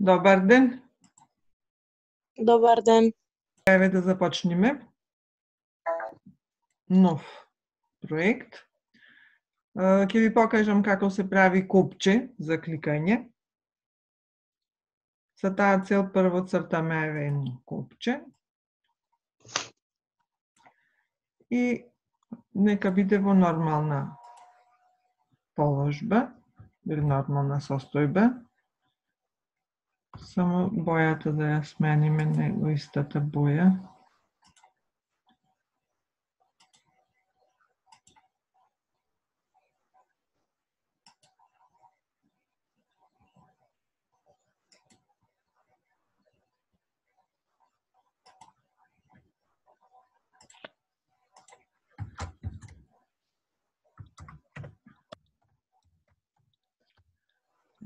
Добар ден. Добар ден. Еве да започнеме. Нов проект. Ќе ви покажам како се прави копче за кликање. За таа цел прво цртаме еве едно копче. И нека биде во нормална положба или нормална состојба. Само бојата да ја смениме, него истата боја.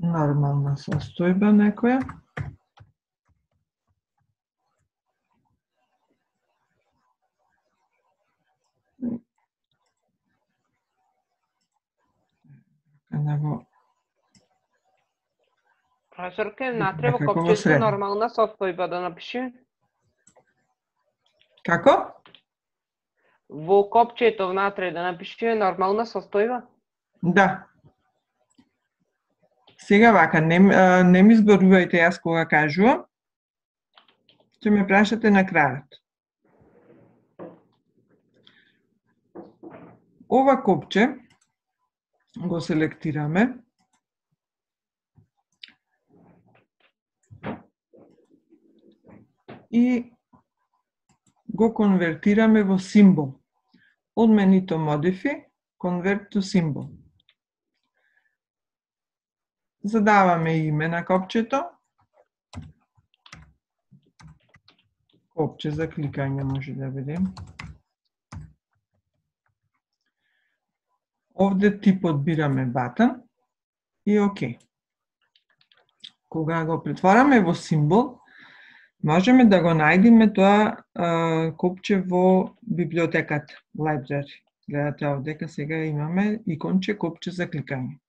Нормална состојба некоја. Професорке, натре во копчето нормална состојба да напише? Како? Во копчето внатре да напише нормална состојба? Да. Сега вака, не ми зборувајте јас кога кажувам, ќе ме прашате на крајот. Ова копче го селектираме. И го конвертираме во символ. Од менито Modify, Convert to Symbol. Задаваме име на копчето. Копче за кликање може да биде. Овде типот бираме button и ОК. Кога го претвораме во символ, можеме да го најдеме тоа копче во библиотеката, library. Гледате овдека сега имаме иконче копче за кликање.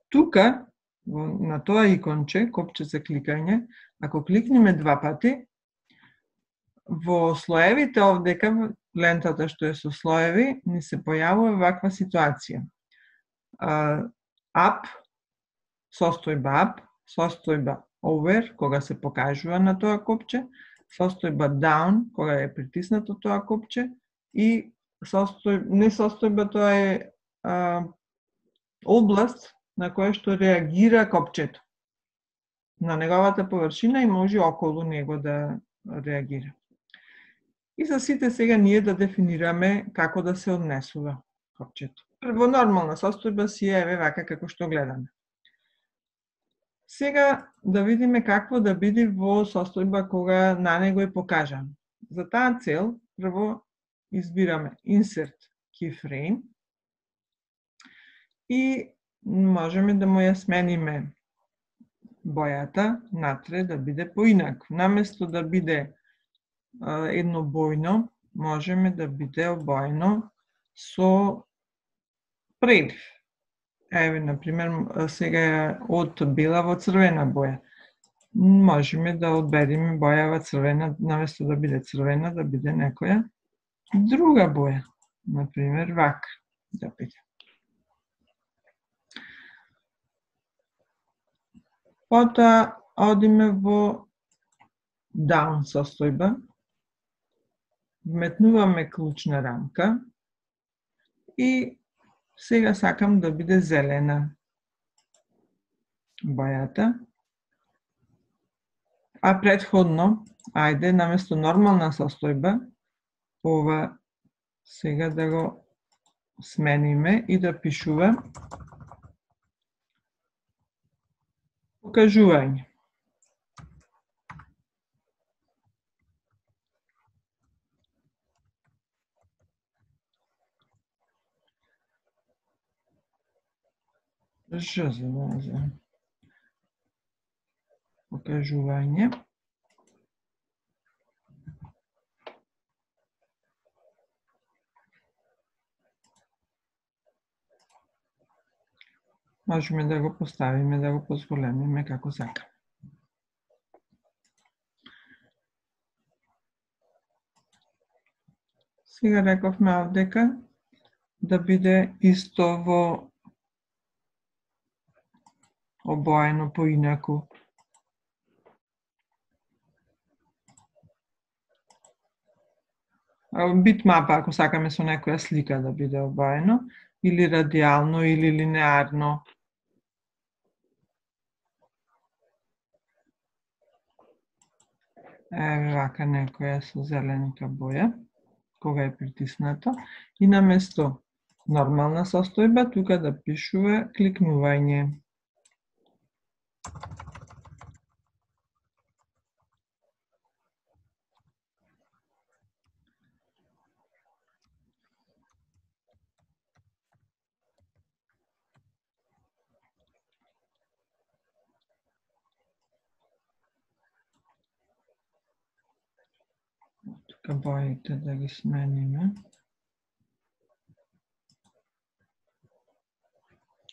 Тука, на тоа иконче, копче за кликање, ако кликнеме два пати, во слоевите овдека, лентата што е со слоеви, ни се појавува ваква ситуација. Up, состојба up, состојба over, кога се покажува на тоа копче, состојба down, кога е притиснато тоа копче, и не состојба, тоа е област на која што реагира копчето. На неговата површина и може околу него да реагира. И за сите сега ние да дефинираме како да се однесува копчето. Во нормална состојба си еве вака како што гледаме. Сега да видиме какво да биде во состојба кога на него е покажан. За таа цел, прво избираме Insert Keyframe и можеме да му ја смениме бојата натре да биде поинак. Наместо да биде еднобојно, можеме да биде обоено со прелив. Еве, например, сега од бела во црвена боја. Можеме да одбереме бојава црвена, наместо да биде црвена, да биде некоја друга боја. Например, вака да биде. Потоа одиме во down состојба, вметнуваме клучна рамка и сега сакам да биде зелена бојата. А претходно, ајде, наместо нормална состојба, ова сега да го смениме и да пишува покажување. Покажување. Можеме да го поставиме, да го позголемиме како сакаме. Сега рековме овдека да биде исто во обоено поинаку. Битмапа, ако сакаме со некоја слика да биде обоено, или радијално, или линеарно. Еве вака некоја со зеленика боја, кога е притиснато, и наместо нормална состојба, тука да пишува кликнување. Тука боите да ги смениме.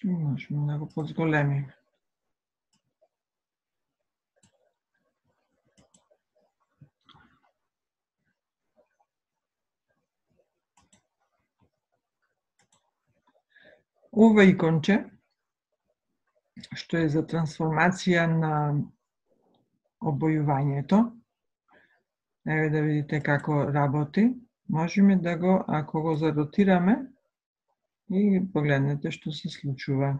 Можеме да го позголемиме. Ова иконче, што е за трансформација на обојувањето, еве да видите како работи, можеме да го, ако го заротираме, и погледнете што се случува.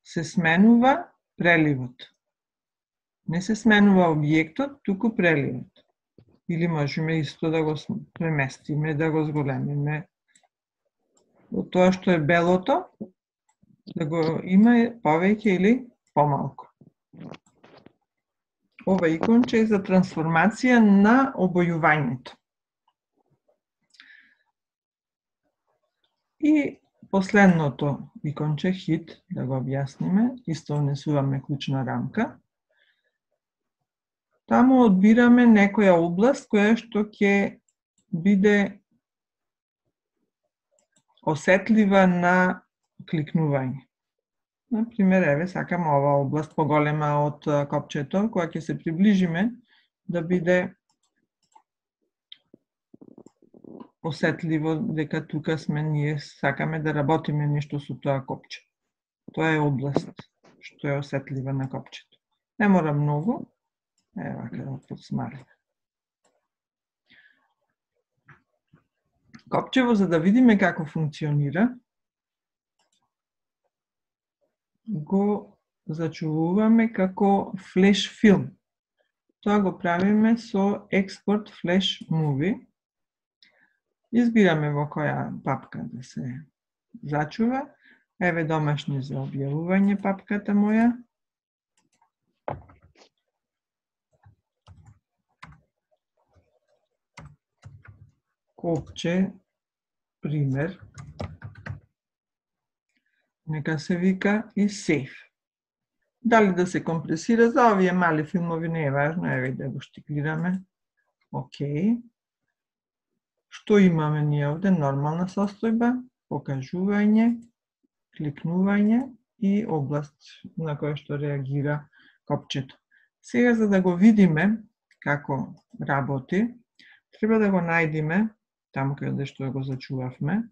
Се сменува преливот. Не се сменува објектот, туку преливот. Или можеме исто да го преместиме, да го зголемиме. Од тоа што е белото, да го има повеќе или помалку. Ова иконче е за трансформација на обојувањето. И последното иконче, хит, да го објасниме, исто внесуваме клучна рамка. Таму одбираме некоја област која што ќе биде осетлива на кликнување. Например, еве, сакам ова област поголема од копчето, која ќе се приближиме да биде осетливо дека тука сме ние сакаме да работиме нешто со тоа копче. Тоа е област што е осетлива на копчето. Не мора многу. Еве вака да подсмалиме. Копчево, за да видиме како функционира, го зачувуваме како флеш филм. Тоа го правиме со експорт флеш муви. Избираме во која папка да се зачува. Еве домашни за објавување папката моја. Копче, пример. Нека се вика и сейф. Дали да се компресира, за овие мали филмови не е важно, еве да го штиклираме. Океј. Што имаме ние овде? Нормална состојба, покажување, кликнување и област на која што реагира копчето. Сега, за да го видиме како работи, треба да го најдиме таму каде што го зачувавме.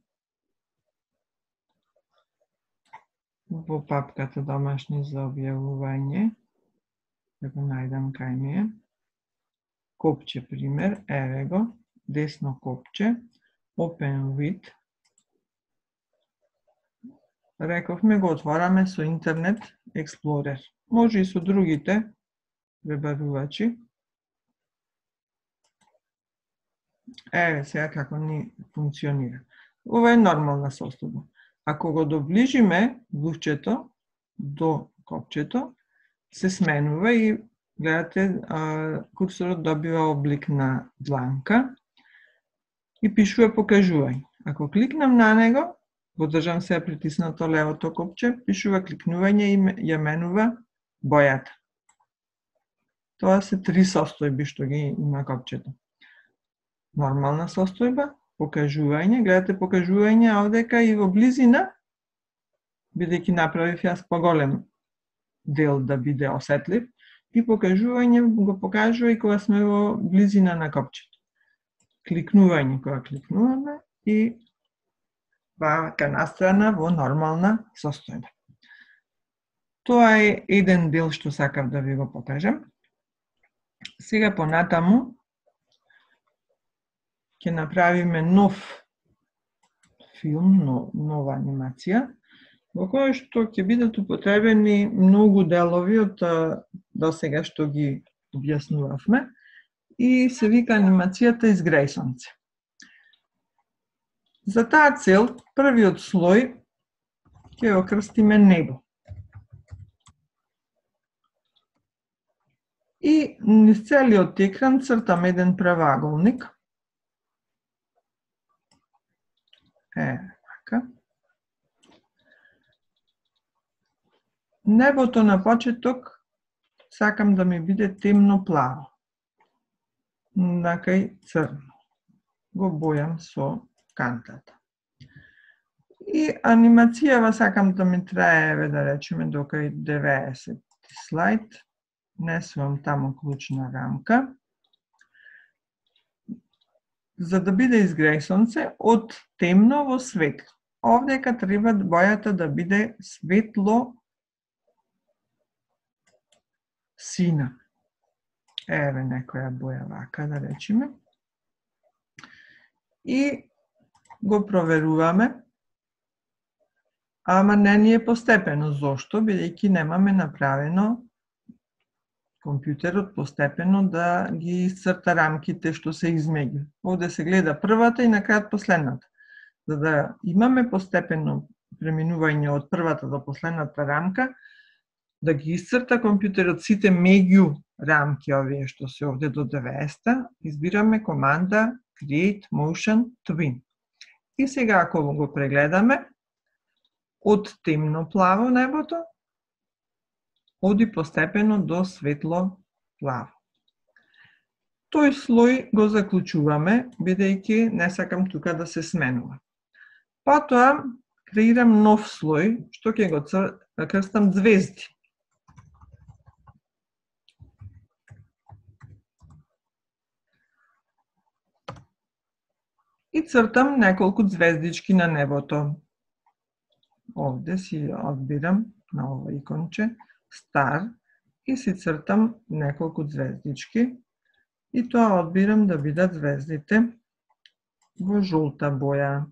Во папката домашни за објавување. Да го најдам кај ми е. Копче, пример, еве го. Десно копче, Open with. Рековме го отвораме со Интернет Експлорер. Може и со другите пребарувачи. Еве сега како ни функционира. Ова е нормална состојба. Ако го доближиме луфчето до копчето, се сменува и гледате курсорот добива облик на дланка и пишува покажување. Ако кликнам на него, го држам сега притиснато левото копче, пишува кликнување и ја менува бојата. Тоа се три состојби што ги има копчето. Нормална состојба, покажување, гледате покажување овдека и во близина, бидејќи направив јас поголем дел да биде осетлив, и покажување го покажува и кога сме во близина на копчето. кликнување кога кликнуваме и вака настроена во нормална состојба. Тоа е еден дел што сакав да ви го покажам. Сега понатаму ќе направиме нов филм, нова анимација, во која што ќе бидат употребени многу делови од досега што ги објаснувавме и се вика анимацијата Изгрејсонце. За таа цел, првиот слој ќе го крстиме небо. И низ целиот екран цртам еден правоаголник. Така. Небото на почеток сакам да ми биде темно плаво. Накај црно. Го бојам со кантата. И анимацијава сакам да ми трае, да речеме, докај 90 слайд. Несувам таму клучна рамка. За да биде изгрејсонце од темно во светло. Овдека треба бојата да биде светло сина. Еве некоја боја вака, да речеме. И го проверуваме. Ама не ни е постепено. Зошто? Бидејќи немаме направено компјутерот постепено да ги исцрта рамките што се измеѓу. Овде се гледа првата и на крај последната. За да имаме постепено преминување од првата до последната рамка, да ги исцрта компјутерот сите меѓу рамки овие што се овде до 90, избираме команда Create Motion Twin. И сега ако го прегледаме, од темно плаво небото, оди постепено до светло плаво. Тој слој го заклучуваме, бидејќи не сакам тука да се сменува. Потоа креирам нов слој, што ќе го крстам звезди. И цртам неколку звездички на небото. Овде си одбирам на ова иконче Star и си цртам неколку звездички и тоа одбирам да бидат звездите во жолта боја.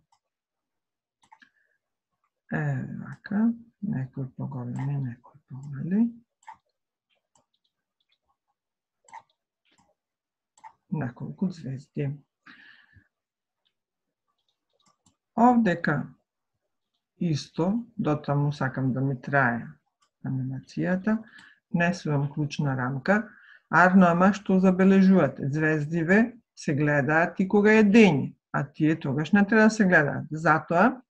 Вака, некој поголеми, некој помали. Неколку звезди. Овдека исто, дотаму сакам да ми трае анимацијата, несувам клучна рамка, арно ама што забележувате, звездиве се гледаат и кога е дење, а тие тогаш не треба да се гледаат. Затоа,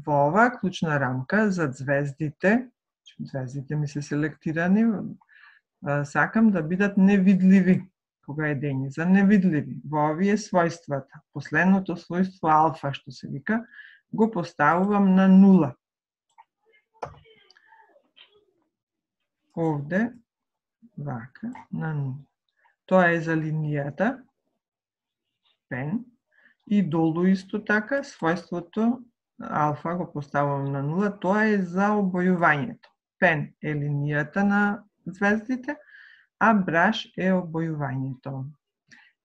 во оваа клучна рамка за звездите ми се селектирани, сакам да бидат невидливи кога е дење, за невидливи. Во овие својствата, последното својство алфа што се вика, го поставувам на 0. Овде, вака, на 0. Тоа е за линијата, пен, и долу исто така, својството алфа го поставувам на 0, тоа е за обојувањето. Пен е линијата на звездите, а браш е обојувањето.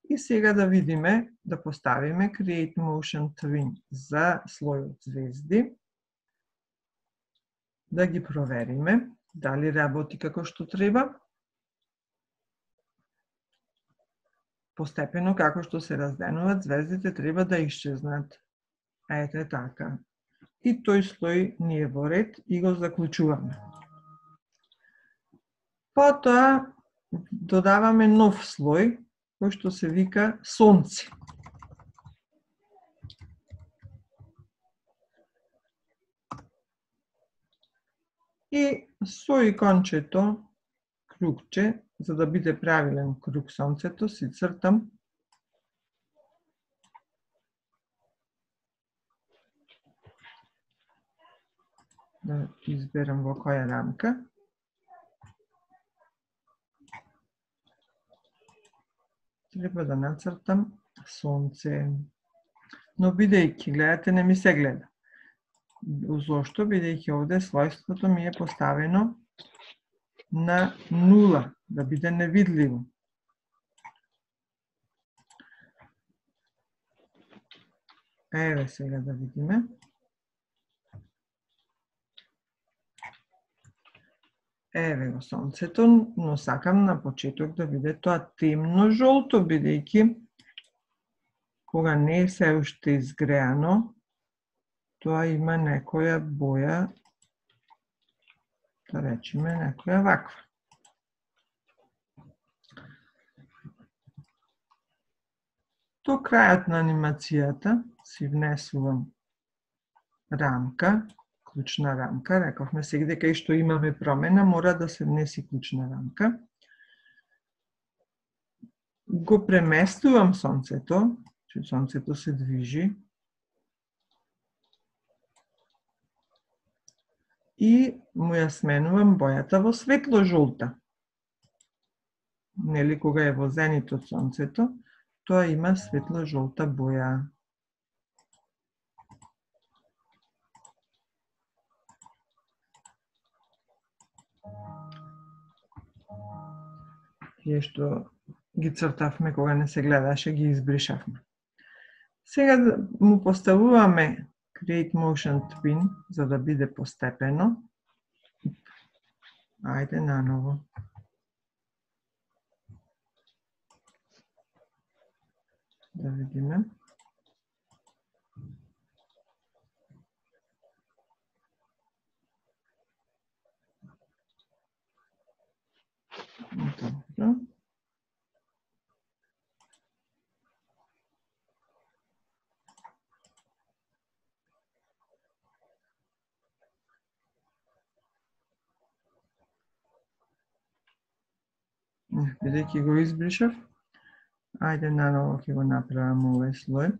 И сега да видиме, да поставиме Create Motion Twin за слојот звезди, да ги провериме, дали работи како што треба. Постепено, како што се разденуваат, звездите треба да исчезнат. Ете така. И тој слој ни е во ред и го заклучуваме. Потоа додаваме нов слој, кој што се вика сонце. И со икончето кругче, за да биде правилен круг сонцето, си цртам да изберам во која рамка. Треба да нацртам сонце. Но бидејќи, гледате, не ми се гледа. Зошто? Бидејќи овде својството ми е поставено на 0, да биде невидливо. Еве сега да видиме. Еве го сонцето, но сакам на почеток да биде тоа темно жолто, бидејќи кога не е се уште изгреано, тоа има некоја боја, да речеме некоја ваква. До крајот на анимацијата си внесувам рамка, клучна рамка, рековме сега дека и што имаме промена, мора да се внеси клучна рамка. Го преместувам сонцето, че сонцето се движи. И му ја сменувам бојата во светло жолта. Нели, кога е во зенит од сонцето, тоа има светло жолта боја. Тие што ги цртавме кога не се гледаше, ги избришавме. Сега му поставуваме Create Motion Twin, за да биде постепено. Ајде наново. Да видиме. Добро. Бидејќи го избришав, ајде наново ќе го направам овој слој.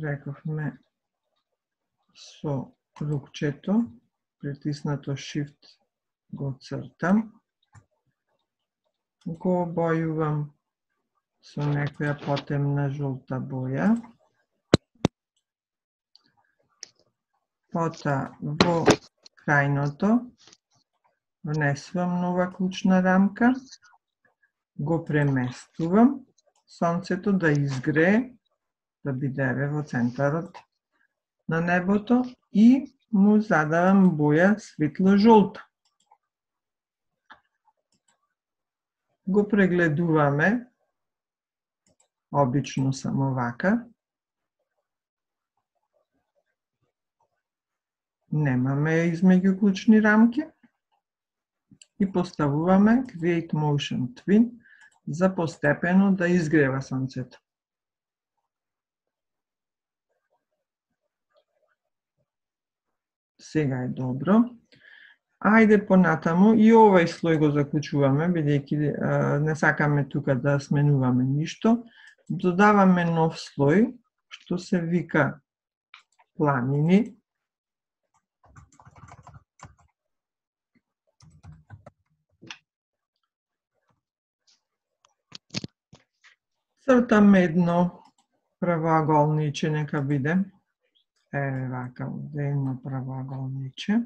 Рековме со рукчето, притиснато Shift го цртам. Го обојувам со некоја потемна жолта боја. Пота во крајното внесувам нова клучна рамка, го преместувам сонцето да изгрее, да биде во центарот на небото и му задавам боја светло жолта. Го прегледуваме, обично само вака. Немаме измеѓу клучни рамки и поставуваме Create Motion Twin за постепено да изгрева сонцето. Сега е добро. Ајде понатаму и овој слој го заклучуваме, бидејќи не сакаме тука да сменуваме ништо. Додаваме нов слој, што се вика планини. Цртам едно правоаголниче, нека биде. Еве вака, едно правоаголниче.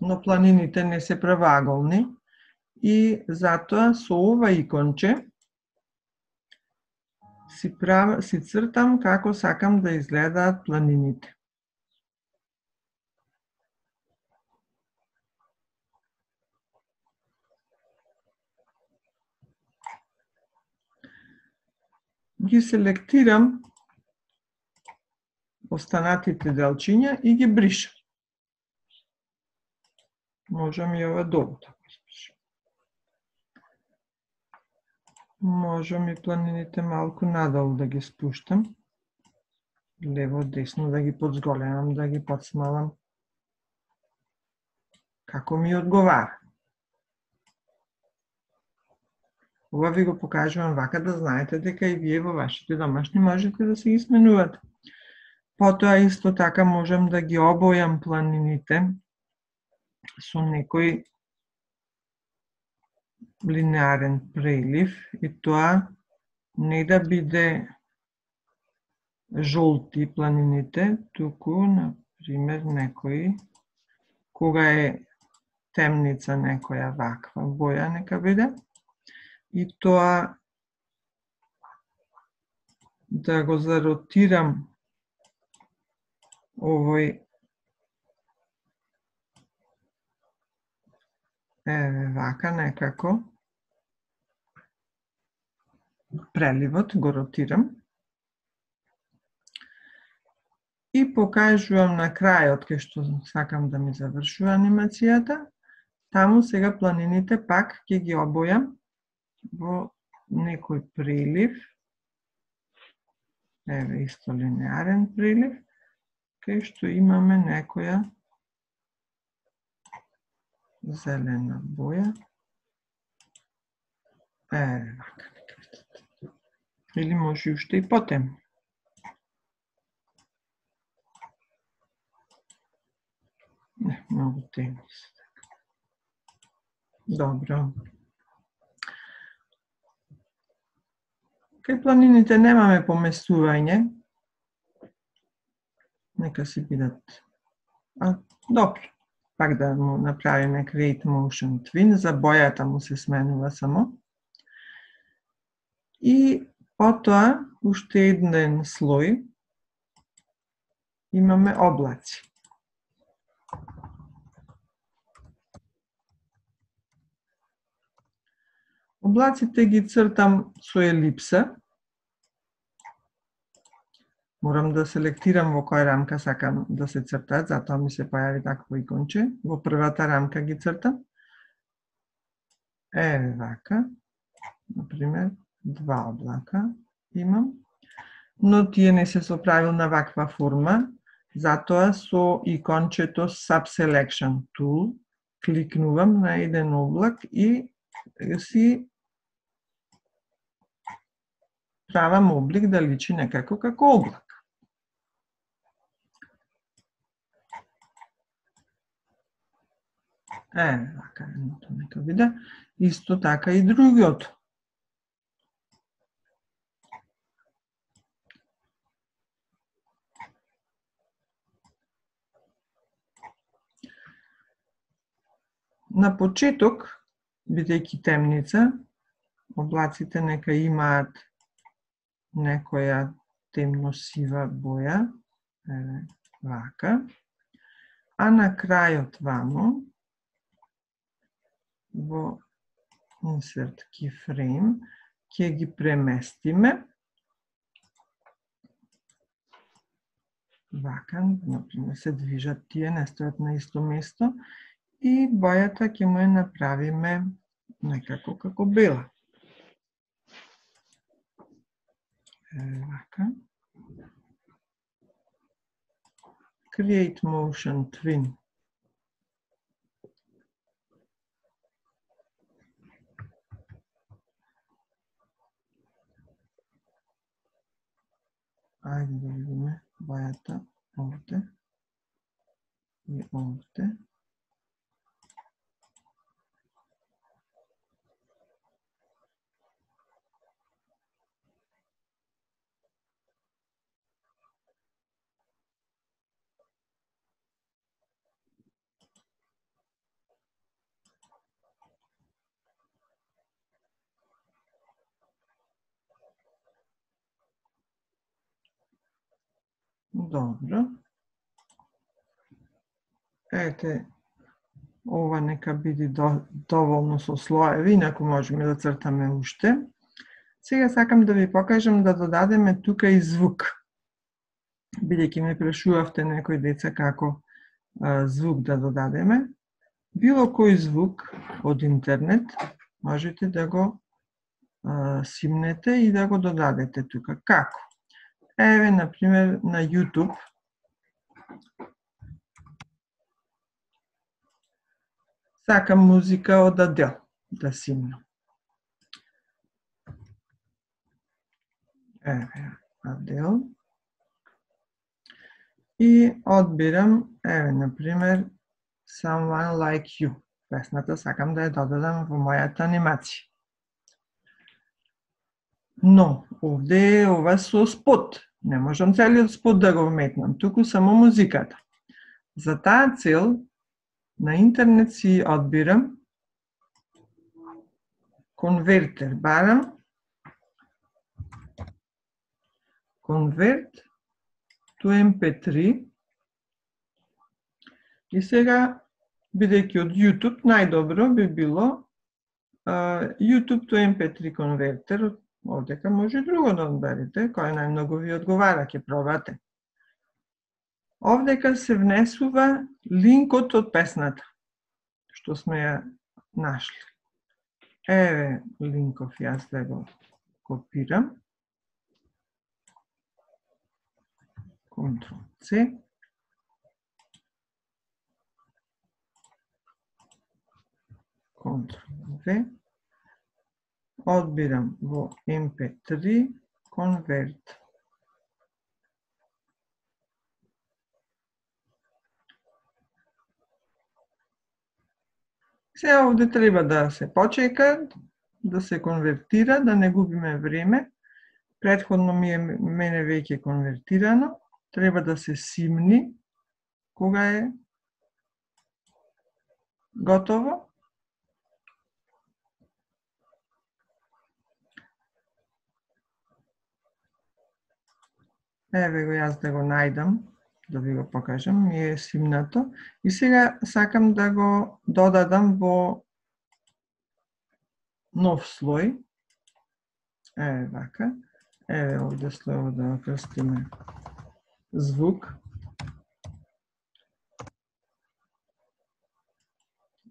Но планините не се правоаголни и затоа со ова иконче си цртам како сакам да изгледаат планините. Ги селектирам останатите делчиња и ги бришам. Можам и ова долу да го испишам. Можам и планините малку надолу да ги спуштам. Лево, десно да ги подзголемам, да ги подсмалам. Како ми одговара. Ова ви го покажувам вака да знаете дека и вие во вашите домашни можете да се ги сменувате. Потоа исто така можам да ги обојам планините со некој линеарен прелив и тоа не да биде жолти планините, туку, на пример, некој, кога е темница некоја ваква боја нека биде, и тоа да го заротирам овој вака некако преливот го ротирам и покажувам на крајот кај што сакам да ми завршува анимацијата. Таму сега планините пак ќе ги обојам во некој прилив. Еве исто линеарен прилив, кај што имаме некоја зелена боја. Еве вака. Или може уште и потемно. Не, многу темно се. Добро. Кај планините немаме поместување. Нека си бидат. Добро. Пак да му направиме Create Motion Twin. За бојата му се сменува само. И потоа, уште еден слој, имаме облаци. Облаците ги цртам со елипса. Морам да селектирам во која рамка сакам да се цртат, затоа ми се појави такво иконче. Во првата рамка ги цртам. Еве вака. Например, 2 облака имам. Но тие не се со правилна ваква форма, затоа со икончето Subselection Tool кликнувам на еден облак и си правам облик да личи некако како облак. Вака едното нека биде. Исто така и другиот. На почеток, бидејќи темница, облаците нека имаат некоја темно-сива боја, еве вака, а на крајот вамо, во Insert Keyframe, ќе ги преместиме, вака, например, се движат тие, не стојат на исто место, и бојата ќе му ја направиме некако како бела. Вака. Create Motion Twin. Ајде да видиме бојата овде и овде. Добро. Ете, ова нека биде доволно со слоеви, инаку можеме да цртаме уште. Сега сакам да ви покажам да додадеме тука и звук. Бидејќи ме прашувавте некои деца како звук да додадеме. Било кој звук од интернет можете да го симнете и да го додадете тука. Како? Еве, например, на YouTube сакам музика од Адел да симнам. Еве, Адел. И одбирам, еве, например, Someone Like You. Песната сакам да ја додадам во мојата анимација. Но, овде е ова со спот. Не можам целиот спот да го вметнам, туку само музиката. За таа цел, на интернет си одбирам конвертер, барам Convert to MP3 и сега, бидејќи од YouTube, најдобро би било YouTube to MP3 конвертер. Овдека може и друго да одберете, кој најмногу ви одговара, ќе пробате. Овдека се внесува линкот од песната, што сме ја нашли. Еве линков, јас да го копирам. Ctrl-C. Ctrl-V. Одбирам во MP3 Convert. Сега овде треба да се почека, да се конвертира, да не губиме време. Претходно мене веќе конвертирано. Треба да се симни кога е готово. Еве го јас да го најдам, да ви го покажам, ми е симнато. И сега сакам да го додадам во нов слој. Еве вака. Еве овде слојот да го крстиме звук.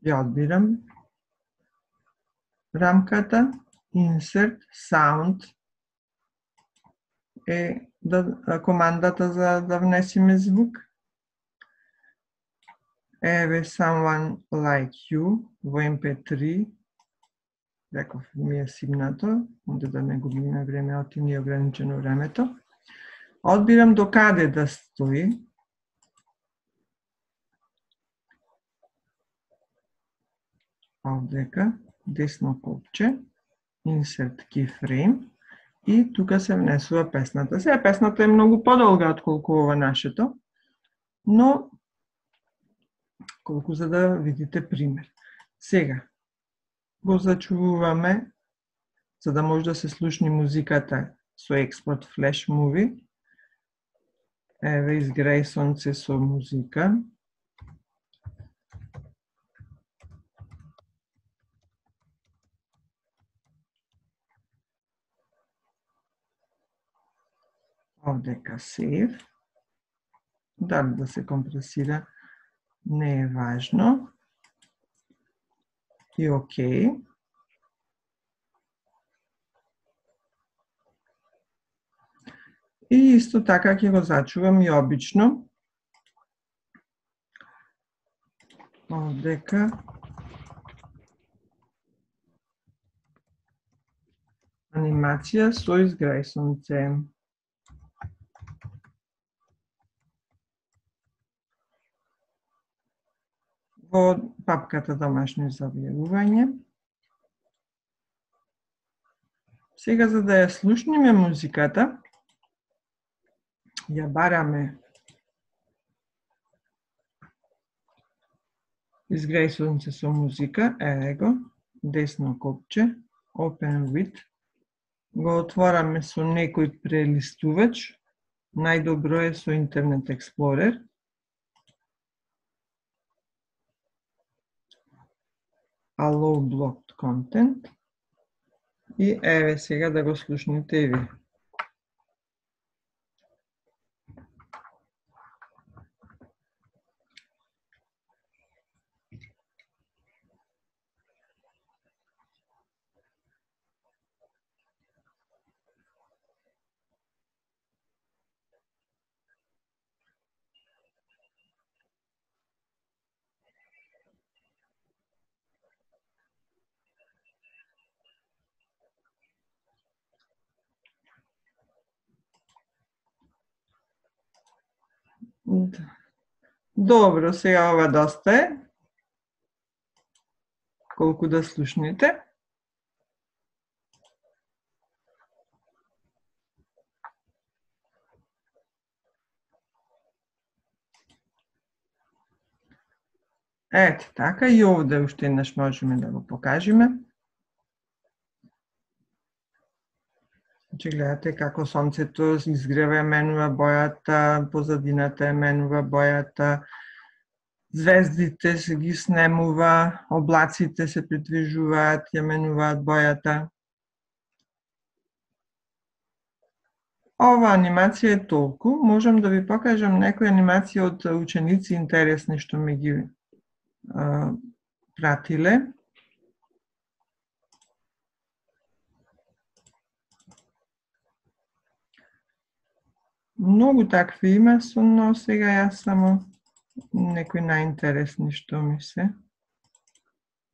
Ја одбирам рамката, Insert, Sound е командата за да внесиме звук. Еве Someone Like You во MP3. Реков ми е симнато, онде да не губиме време, оти ни е ограничено времето. Одбирам до каде да стои. Овдека, десно копче, Insert Keyframe. И тука се внесува песната. Сега песната е многу подолга отколку ова нашето, но колку за да видите пример. Сега го зачувуваме, за да може да се слушни музиката со експорт Flash Movie. Еве изгреј сонце со музика. Овдека save. Дали да се компресира не е важно. И окей. И исто така ќе го зачувам и обично. Овдека анимација со изгреј сонце. Во папката домашно завјавување. Сега за да ја слушниме музиката, ја бараме изгреј сонце со музика, еве го, десно копче, Open with, го отвораме со некој прелистувач, најдобро е со Internet Explorer. Allow blocked content. И еве сега да го слушнете и ви. Добро, сега ова доста е. Колку да слушнете. Ето така, и овде уште еднаш можеме да го покажеме. Значи гледате како сонцето изгрева, менува бојата, позадината менува бојата, звездите се ги снемува, облаците се придвижуваат, ја менуваат бојата. Ова анимација е толку, можам да ви покажам некои анимации од ученици интересни што ми ги пратиле. Многу такви има, но сега јас само некои најинтересни што ми се,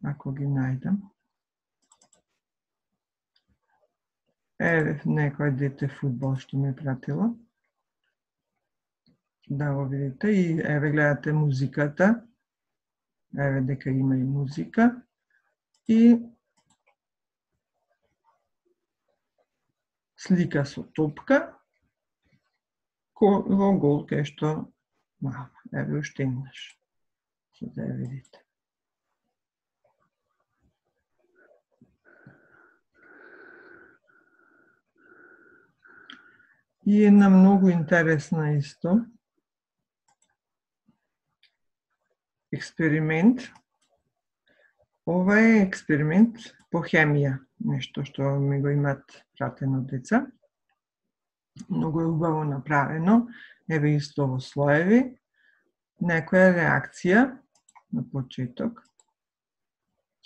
ако ги најдам. Еве некој дете фудбал што ми пратило. Да го видите и еве гледате музиката. Еве дека има и музика. И слика со топка во гол кај што еве уште еднаш. За да ја видите. И една многу интересна исто експеримент. Ова е експеримент по хемија, нешто што ми го имат пратено деца. Многу е убаво направено, еве исто во слоеви. Некоја реакција на почеток.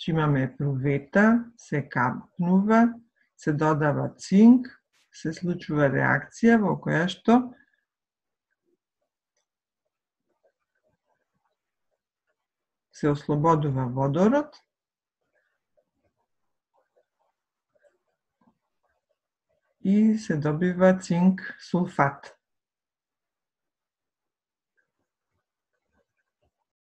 Имаме прувета, се капнува, се додава цинк, се случува реакција во која што се ослободува водород и се добива цинк сулфат.